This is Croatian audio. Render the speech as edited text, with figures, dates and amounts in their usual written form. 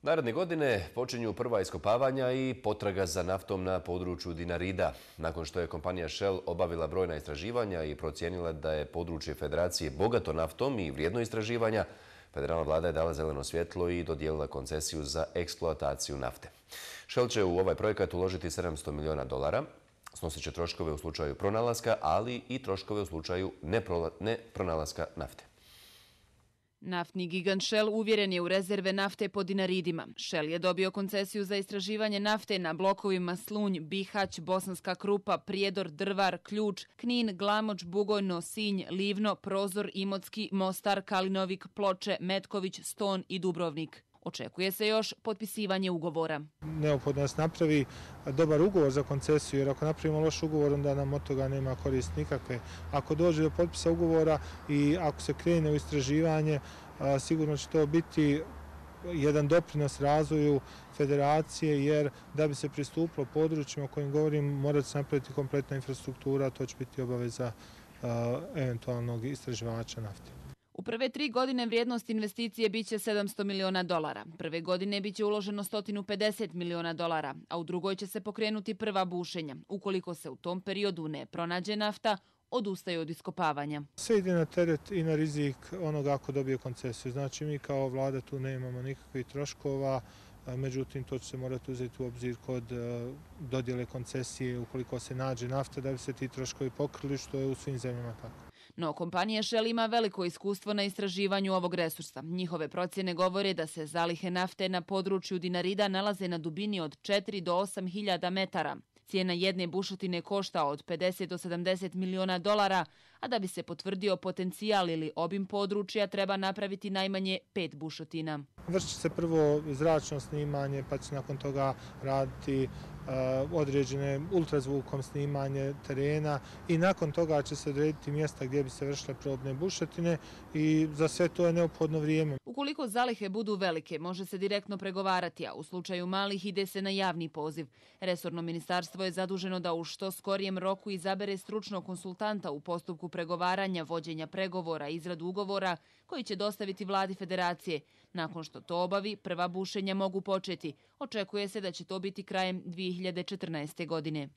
Naredne godine počinju prva iskopavanja i potraga za naftom na području Dinarida. Nakon što je kompanija Shell obavila brojna istraživanja i procijenila da je područje Federacije bogato naftom i vrijedno istraživanja, federalna vlada je dala zeleno svjetlo i dodijelila koncesiju za eksploataciju nafte. Shell će u ovaj projekat uložiti $700 milijuna, snosit će troškove u slučaju pronalaska, ali i troškove u slučaju nepronalaska nafte. Naftni gigant Shell uvjeren je u rezerve nafte po Dinaridima. Shell je dobio koncesiju za istraživanje nafte na blokovima Slunj, Bihać, Bosanska Krupa, Prijedor, Drvar, Ključ, Knin, Glamoč, Bugojno, Sinj, Livno, Prozor, Imotski, Mostar, Kalinovik, Ploče, Metković, Ston i Dubrovnik. Očekuje se još potpisivanje ugovora. Neophodno da se napravi dobar ugovor za koncesiju, jer ako napravimo loš ugovor, onda nam od toga nema koristi nikakve. Ako dođe do potpisa ugovora i ako se krene u istraživanje, sigurno će to biti jedan doprinos razvoju federacije, jer da bi se pristupilo područjima o kojim govorim, mora se napraviti kompletna infrastruktura, to će biti obaveza eventualnog istraživača nafte. U prve 3 godine vrijednost investicije biće $700 milijuna. Prve godine biće uloženo $150 milijuna, a u drugoj će se pokrenuti prva bušenja. Ukoliko se u tom periodu ne pronađe nafta, odustaje od iskopavanja. Sve ide na teret i na rizik onoga ako dobije koncesiju. Znači mi kao vlada tu nemamo nikakvih troškova, međutim to će se morati uzeti u obzir kod dodjele koncesije ukoliko se nađe nafta da bi se ti troškovi pokrili, što je u svim zemljama tako. No, kompanija Shell ima veliko iskustvo na istraživanju ovog resursa. Njihove procjene govore da se zalihe nafte na području Dinarida nalaze na dubini od 4 do 8 hiljada metara. Cijena jedne bušotine košta od $50 do $70 milijuna, a da bi se potvrdio potencijal ili obim područja treba napraviti najmanje 5 bušotina. Vršit će se prvo zračno snimanje, pa će nakon toga raditi određene ultrazvukom snimanje terena i nakon toga će se odrediti mjesta gdje bi se vršile probne bušotine i za sve to je neophodno vrijeme. Ukoliko zalihe budu velike, može se direktno pregovarati, a u slučaju malih ide se na javni poziv. Resorno ministarstvo je zaduženo da u što skorijem roku izabere stručnog konsultanta u postupku pregovaranja, vođenja pregovora i izradu ugovora koji će dostaviti vladi federacije. Nakon što to obavi, prva bušenja mogu početi. Očekuje se da će to biti krajem 2014. godine.